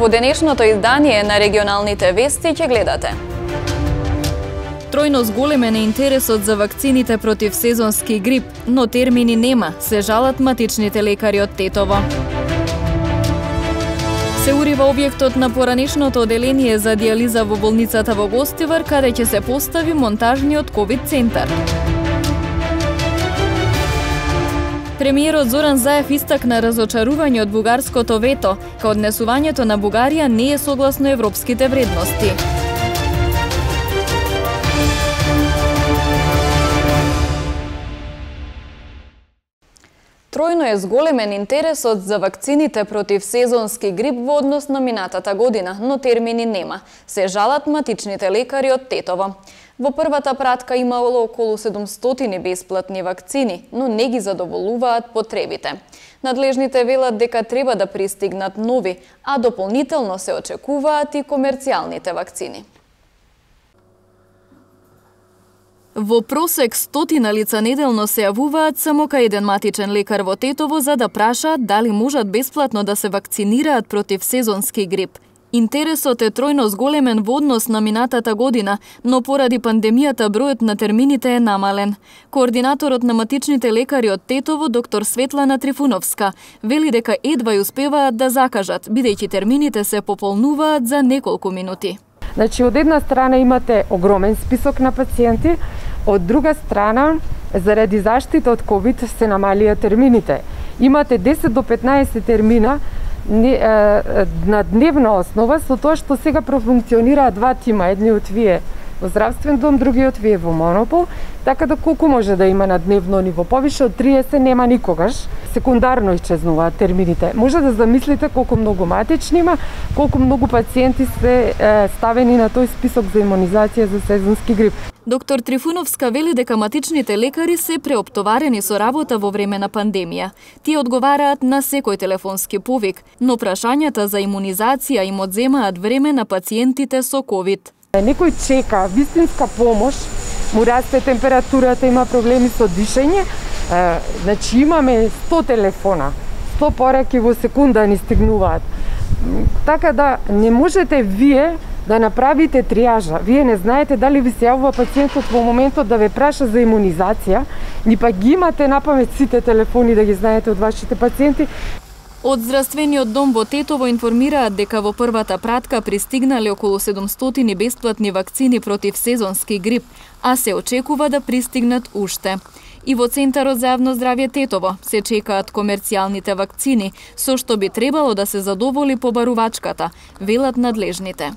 Во денешното издание на регионалните вести ќе гледате. Тројно зголемен е интересот за вакцините против сезонски грип, но термини нема, се жалат матичните лекари од Тетово. Се урива објектот на поранешното оделение за дијализа во болницата во Гостивар, каде ќе се постави монтажниот ковид центар. Премиерот Зоран Заев истакна разочарување од бугарското вето, као однесувањето на Бугарија не е согласно европските вредности. Тројно е зголемен интересот за вакцините против сезонски грип во однос на минатата година, но термини нема, се жалат матичните лекари од Тетово. Во првата пратка имало околу 700 бесплатни вакцини, но не ги задоволуваат потребите. Надлежните велат дека треба да пристигнат нови, а дополнително се очекуваат и комерцијалните вакцини. Во просек 100 лица неделно се јавуваат само кај еден матичен лекар во Тетово за да прашаат дали можат бесплатно да се вакцинираат против сезонски грип. Интересот е тројно зголемен во однос на минатата година, но поради пандемијата бројот на термините е намален. Координаторот на матичните лекари од Тетово, доктор Светлана Трифуновска, вели дека едва ја успеваат да закажат, бидејќи термините се пополнуваат за неколку минути. Значи, од една страна имате огромен список на пациенти, од друга страна, заради заштита од ковид се намалија термините. Имате 10 до 15 термина на дневна основа, со тоа што сега профункционираат два тима, едниот вие во здравствен дом, другиот вие во монопол, така да колку може да има на дневно ниво, повише од 30 нема никогаш. Секундарно исчезнуваат термините. Може да замислите колку многу матични има, колку многу пациенти се ставени на тој список за имунизација за сезонски грип. Доктор Трифуновска вели дека матичните лекари се преоптоварени со работа во време на пандемија. Тие одговараат на секој телефонски повик, но прашањата за имунизација им одземаат време на пациентите со ковид. Некој чека вистинска помош, му расте температурата, има проблеми со дишење, значи имаме 100 телефона, 100 пораки во секунда ни стигнуваат. Така да не можете вие да направите триажа. Вие не знаете дали ви се јавува пациентот во моментот да ве праша за имунизација, ни па ги имате напамет сите телефони да ги знаете од вашите пациенти. Од здравствениот дом во Тетово информираат дека во првата пратка пристигнале околу 700 бесплатни вакцини против сезонски грип, а се очекува да пристигнат уште. И во Центарот за јавно здравје Тетово се чекаат комерцијалните вакцини, со што би требало да се задоволи побарувачката, велат надлежните.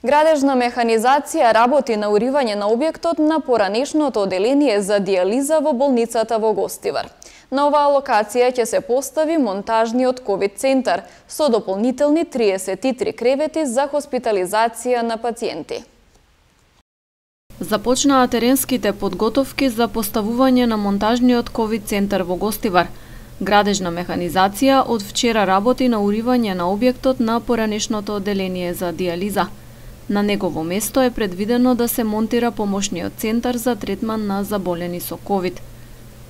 Градежна механизација работи на уривање на објектот на поранешното оделение за дијализа во болницата во Гостивар. На оваа локација ќе се постави монтажниот ковид центар со дополнителни 33 кревети за хоспитализација на пациенти. Започнаа теренските подготовки за поставување на монтажниот ковид центар во Гостивар. Градежна механизација од вчера работи на уривање на објектот на поранешното оделение за дијализа. На негово место е предвидено да се монтира помошниот центар за третман на заболени со ковид.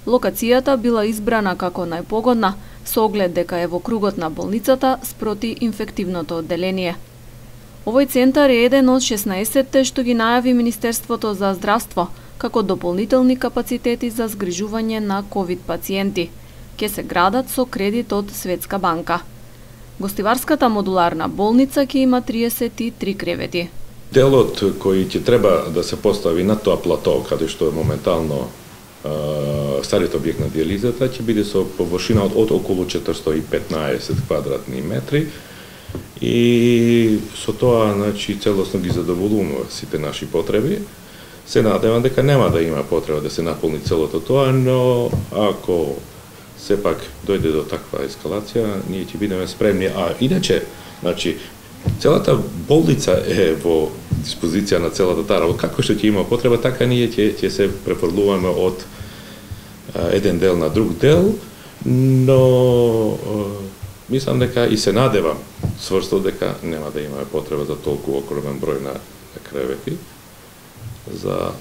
Локацијата била избрана како најпогодна, со оглед дека е во кругот на болницата спроти инфективното одделение. Овој центар е еден од 16-те што ги најави Министерството за здравство, како дополнителни капацитети за згрижување на ковид пациенти. Ке се градат со кредит од Светска банка. Гостиварската модуларна болница ќе има 33 кревети. Делот кој ќе треба да се постави на тоа плато, каде што е моментално стариот објект на дијализата, ќе биде со површина од околу 415 квадратни метри и со тоа, значи, целосно ги задоволуваме сите наши потреби. Се надевам дека нема да има потреба да се наполни целото тоа, но ако сепак дојде до таква ескалација, ние ќе бидеме спремни. А иначе, значи, целата болница е во диспозиција на целата таа работа. Како што ќе има потреба, така ние ќе се префрлуваме од еден дел на друг дел, но мислам дека и се надевам сврсто дека нема да имаме потреба за толку огромен број на кревети за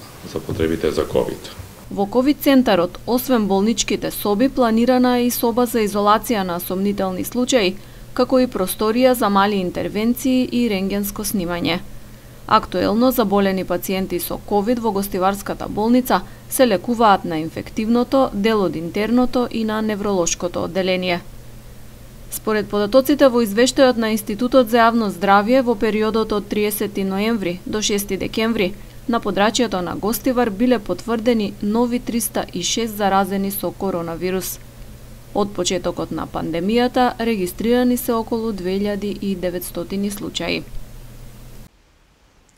потребите за ковид. Во ковид центарот, освен болничките соби, планирана е и соба за изолација на сомнителни случаи, како и просторија за мали интервенции и рентгенско снимање. Актуелно заболени пациенти со ковид во гостиварската болница се лекуваат на инфективното, дел од интерното и на невролошкото одделение. Според податоците во извештајот на Институтот за јавно здравје, во периодот од 30 ноември до 6 декември, на подрачјето на Гостивар биле потврдени нови 306 заразени со коронавирус. Од почетокот на пандемијата регистрирани се околу 2900 случаи.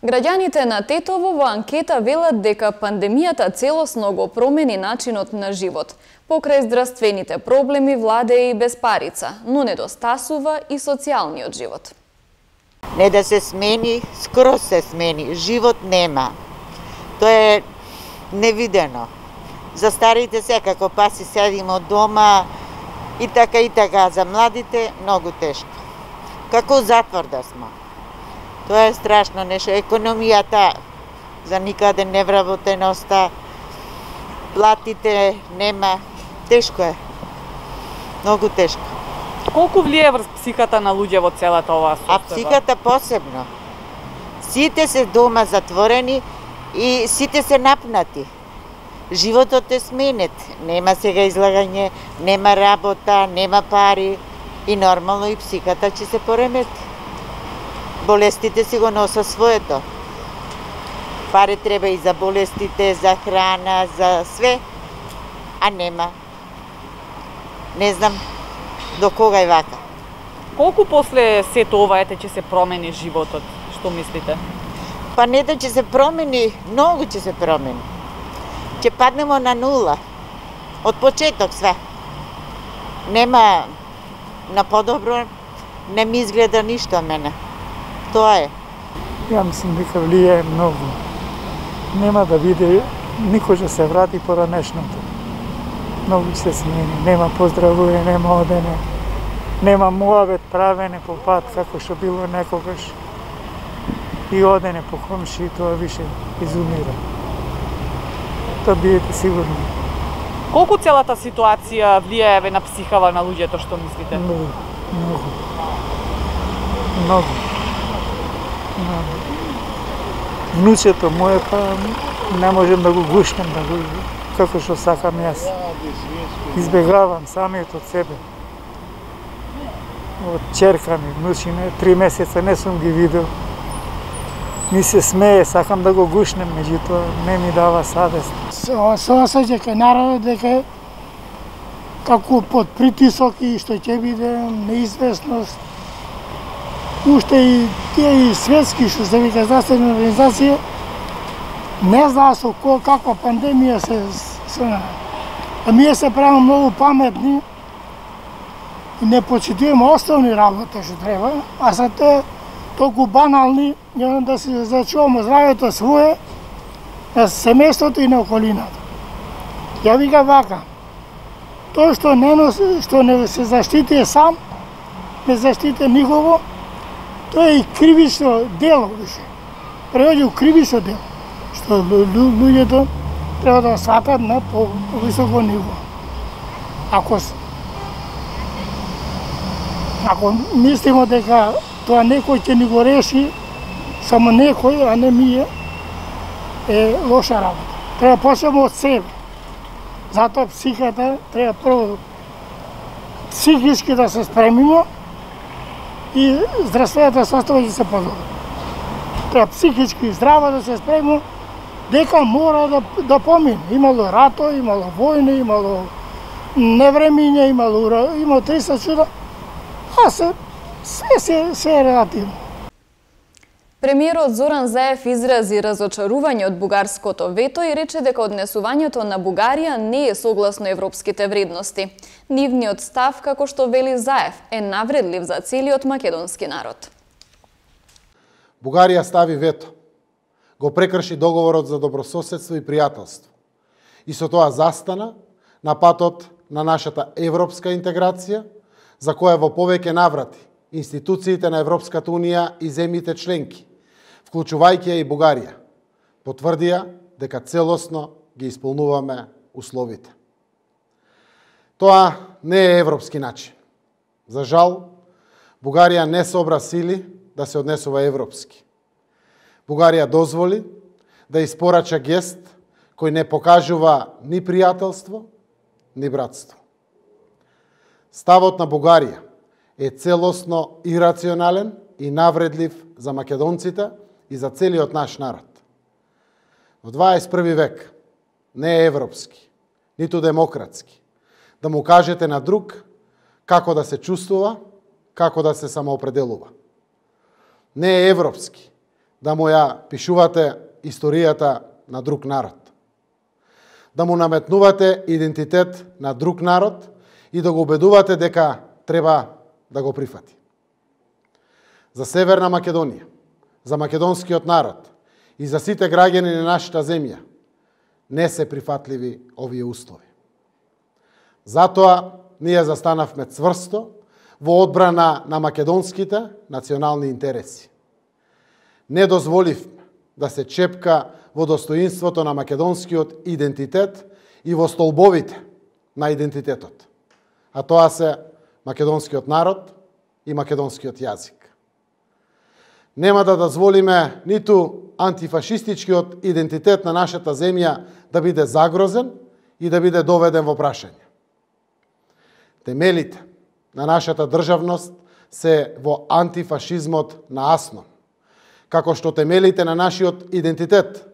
Граѓаните на Тетово во анкета велат дека пандемијата целосно го промени начинот на живот. Покрај здравствените проблеми владее и безпарица, но недостасува и социјалниот живот. Не да се смени, скроз се смени. Живот нема. Тоа е невидено. За старите секако паси седимо од дома и така. За младите многу тешко. Како затвор да сме. Тоа е страшно нешто. Економијата за никаде невработеноста, платите нема. Тешко е. Многу тешко. Колку влијае врз психата на луѓе во целата оваа состојба? А психата посебно. Сите се дома затворени и сите се напнати. Животот е сменет. Нема сега излагање, нема работа, нема пари и нормално и психата ќе се поремети. Болестите си го носа своето. Пари треба и за болестите, за храна, за све, а нема. Не знам до кога е вака. Колку после сето ова ќе се промени животот? Што мислите? Па не да ќе се промени, многу ќе се промени. Ќе паднемо на нула. Од почеток све. Нема на подобро, не ми изгледа ништо мене. Тоа е. Ја мислам дека влијае многу. Нема да биде, никој ќе се врати поранешното. Многу ќе се смени. Нема поздравување, нема одене. Нема муабет правене по пат, како што било некогаш. И одене по комши, тоа више изумира. Тоа бидете сигурни. Колку целата ситуација влијае на психава на луѓето, што мислите? Многу. Внучето моје па не можем да го гушнем, како што сакам јас. Избегавам самиот од себе. Од черка ми, внучине, 3 месеца не сум ги видел. Ми се смее, сакам да го гушнем, меѓутоа не ми дава савест. Се осеќа кај народот дека како под притисок и што ќе биде неизвестност. Уште и тие светски, што се вика здравствени организација, не знаа со каква пандемија се а ние се правиме многу паметни и не почитуваме основни работи што треба, а се те толку банални, да се зачуваме здравето свое, на семејството и на околината. Ја вика вака, тој што не се заштити сам, не заштити никого, тоа е и кривично дело више. Превоѓа у кривично дело, што луѓето треба да сватат на повисоко ниво. Ако мислимо дека тоа некој ќе ни го реши, само некој, а не ние, е лоша работа. Треба почнеме од себе. Затоа психата треба прво психички да се спремиме и здравствената состојба ќе се подобри. Треба психички здрава да се спремиме дека мора да помине. Имало рато, имало војни, имало невремиња, имало 300 чуда, а се е релативно. Премиерот Зоран Заев изрази разочарување од бугарското вето и рече дека однесувањето на Бугарија не е согласно европските вредности. Нивниот став, како што вели Заев, е навредлив за целиот македонски народ. Бугарија стави вето. Го прекрши договорот за добрососедство и пријателство. И со тоа застана на патот на нашата европска интеграција, за која во повеќе наврати институциите на Европската унија и земјите членки, вклучувајќи ја и Бугарија, потврдија дека целосно ги исполнуваме условите. Тоа не е европски начин. За жал, Бугарија не собра сили да се однесува европски. Бугарија дозволи да испорача гест кој не покажува ни пријателство, ни братство. Ставот на Бугарија е целосно ирационален и навредлив за македонците и за целиот наш народ. Во 21. век не е европски, ниту демократски, да му кажете на друг како да се чувствува, како да се самоопределува. Не е европски да му ја пишувате историјата на друг народ. Да му наметнувате идентитет на друг народ и да го убедувате дека треба да го прифати. За Северна Македонија, за македонскиот народ и за сите граѓани на нашата земја не се прифатливи овие услови. Затоа ние застанавме цврсто во одбрана на македонските национални интереси. Не дозволивме да се чепка во достоинството на македонскиот идентитет и во столбовите на идентитетот. А тоа се македонскиот народ и македонскиот јазик. Нема да дозволиме ниту антифашистичкиот идентитет на нашата земја да биде загрозен и да биде доведен во прашање. Темелите на нашата државност се во антифашизмот на Аснон, како што темелите на нашиот идентитет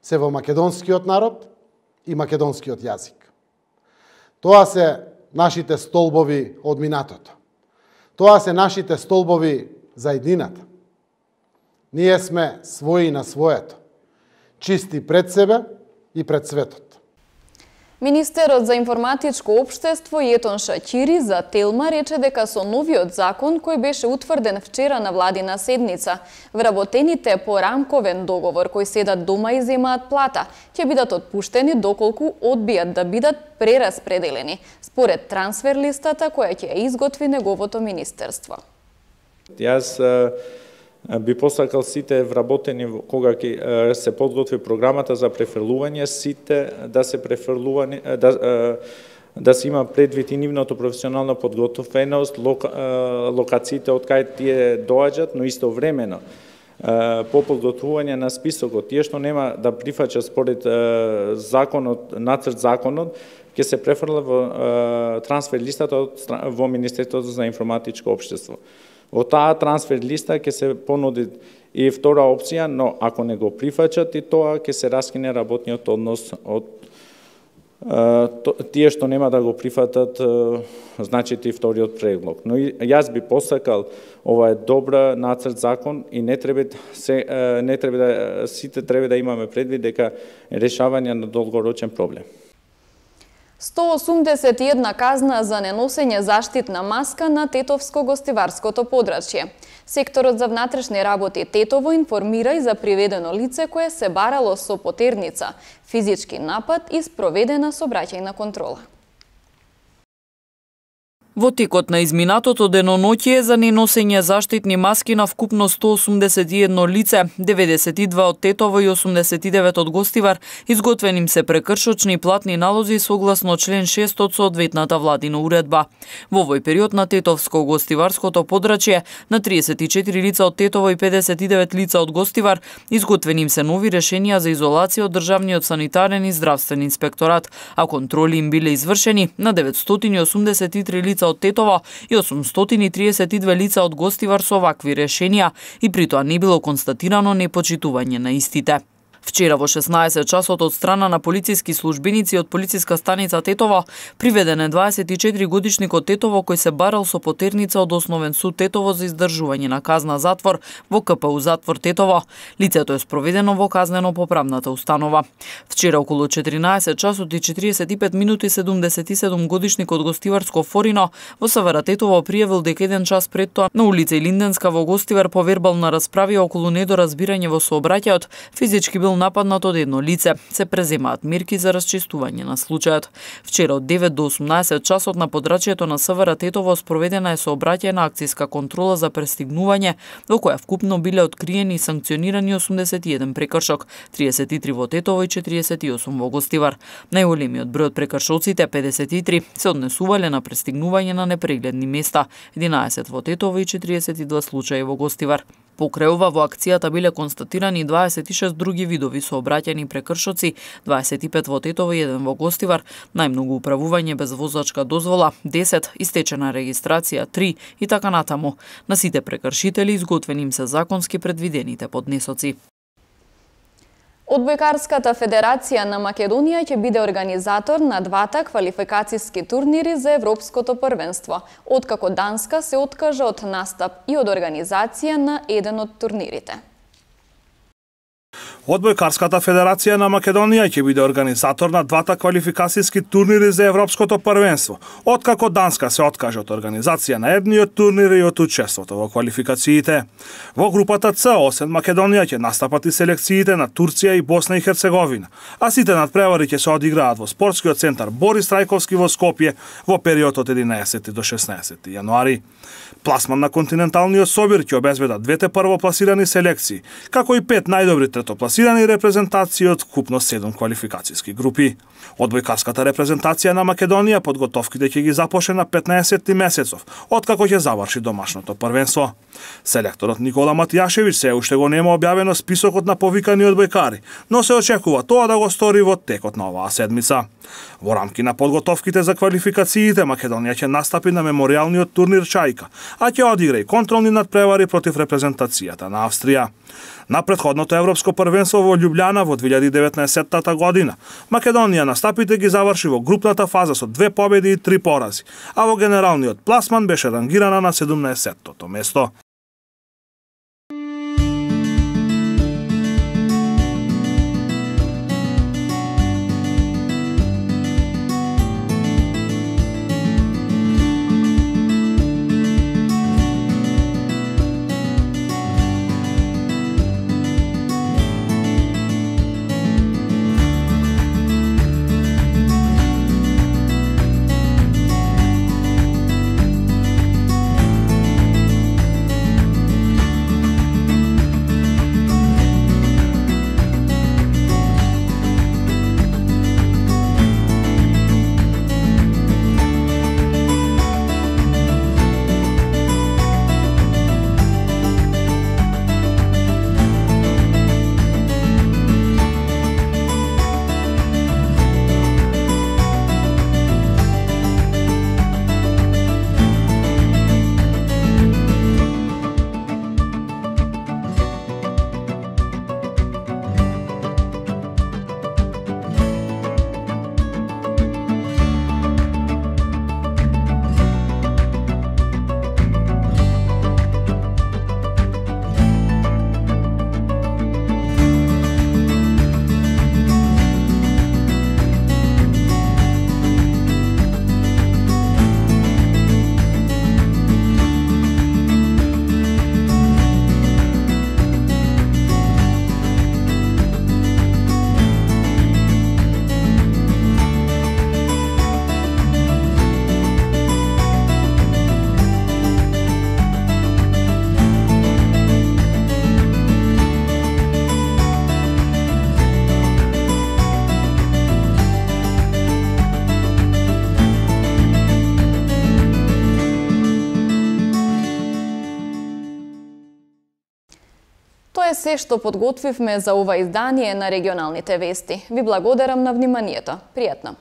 се во македонскиот народ и македонскиот јазик. Тоа се нашите столбови од минатото. Тоа се нашите столбови за едината. Ние сме своји на своето, чисти пред себе и пред светот. Министерот за информатичко општество Јетон Шаќири за Телма рече дека со новиот закон кој беше утврден вчера на владина седница, вработените по рамковен договор кои седат дома и земаат плата, ќе бидат отпуштени доколку одбијат да бидат прераспределени, според трансфер листата која ќе ја изготви неговото министерство. Јас би посакал сите вработени кога ќе се подготви програмата за префрлување, сите да се префрлувани да се има предвид и нивното професионална подготвеност, локациите од кај тие доаѓаат, но истовремено по подготвување на списокот, тие што нема да прифаќа според законот, нацрт законот, ќе се префрла во трансфер листата во Министерството за информатичко општество. Во таа трансфер листа ќе се понуди и втора опција, но ако не го прифаќат и тоа ќе се раскине работниот однос од тие што нема да го прифатат, значи и вториот предлог. Но јас би посакал, ова е добра нацрт закон и не треба сите треба да имаме предвид дека решавање на долгорочен проблем. 181 казна за неносење заштитна маска на Тетовско-гостиварското подрачје. Секторот за внатрешни работи Тетово информира и за приведено лице кое се барало со потерница, физички напад и спроведена сообраќајна контрола. Во текот на изминатото деноноќие за неносење заштитни маски на вкупно 181 лице, 92 од Тетово и 89 од Гостивар, изготвени им се прекршочни платни налози согласно член 6 од соодветната владина уредба. Во овој период на Тетовско-гостиварското подрачје на 34 лица од Тетово и 59 лица од Гостивар изготвени им се нови решенија за изолација од државниот санитарен и здравствен инспекторат, а контроли им биле извршени на 983 лица од Тетово и 832 лица од Гостивар со вакви решенија и при тоа не било констатирано непочитување на истите. Вчера во 16 часот од страна на полициски службеници од полициска станица Тетово приведен е 24 годишник од Тетово кој се барал со потерница од Основен суд Тетово за издржување на казна затвор во КПУ затвор Тетово. Лицето е спроведено во казнено-поправната установа. Вчера околу 14 часот и 45 минути 77 годишник од Гостиварско Форино во СВР Тетово пријавил дека еден час пред тоа на улица Илинденска во Гостивар по вербална расправа околу недоразбирање во сообраќајот физички бил бил нападнат од едно лице. Се преземаат мерки за расчистување на случајот. Вчера од 9 до 18 часот на подрачјето на СВР Тетово спроведена е сообраќајна акцијска контрола за престигнување, во која вкупно биле откриени и санкционирани 81 прекршок, 33 во Тетово и 48 во Гостивар. Најголемиот број од прекршоците, 53, се однесувале на престигнување на непрегледни места, 11 во Тетово и 42 случаи во Гостивар. Покрај ова во акцијата биле констатирани 26 други видови сообраќајни прекршоци, 25 во Тетово и 1 во Гостивар, најмногу управување без возачка дозвола, 10, истечена регистрација 3 и така натаму. На сите прекршители изготвени им се законски предвидените поднесоци. Одбојкарската федерација на Македонија ќе биде организатор на двата квалификацијски турнири за Европското првенство, откако Данска се откажа од настап и од организација на еден од турнирите. Одбојкарската федерација на Македонија ќе биде организатор на двата квалификацијски турнири за Европското првенство, откако Данска се откаже од организација на едниот турнир и од учеството во квалификациите. Во групата С, освен Македонија, ќе настапат и селекциите на Турција и Босна и Херцеговина, а сите надпревари ќе се одиграат во спортскиот центар Борис Трајковски во Скопје во период од 11 до 16 јануари. Пласман на континенталниот собир ќе обезбедат двете првопласирани селекции, како и 5 најдобри третопласирани репрезентации од вкупно 7 квалификацијски групи. Одбојкарската репрезентација на Македонија подготовките ќе ги започне на 15 месецов, откако ќе заврши домашното првенство. Селекторот Никола Матијашевиќ се уште го нема објавено списокот на повикани одбојкари, но се очекува тоа да го стори во текот на оваа седмица. Во рамки на подготовките за квалификациите, Македонија ќе настапи на меморијалниот турнир Чајка, а ќе одигра и контролни надпревари против репрезентацијата на Австрија. На претходното европско првенство во Љубљана во 2019 година, Македонија настапите ги заврши во групната фаза со 2 победи и 3 порази, а во генералниот пласман беше рангирана на 17-тото место. Тоа е се што подготвивме за ова издание на регионалните вести. Ви благодарам на вниманието. Пријатно!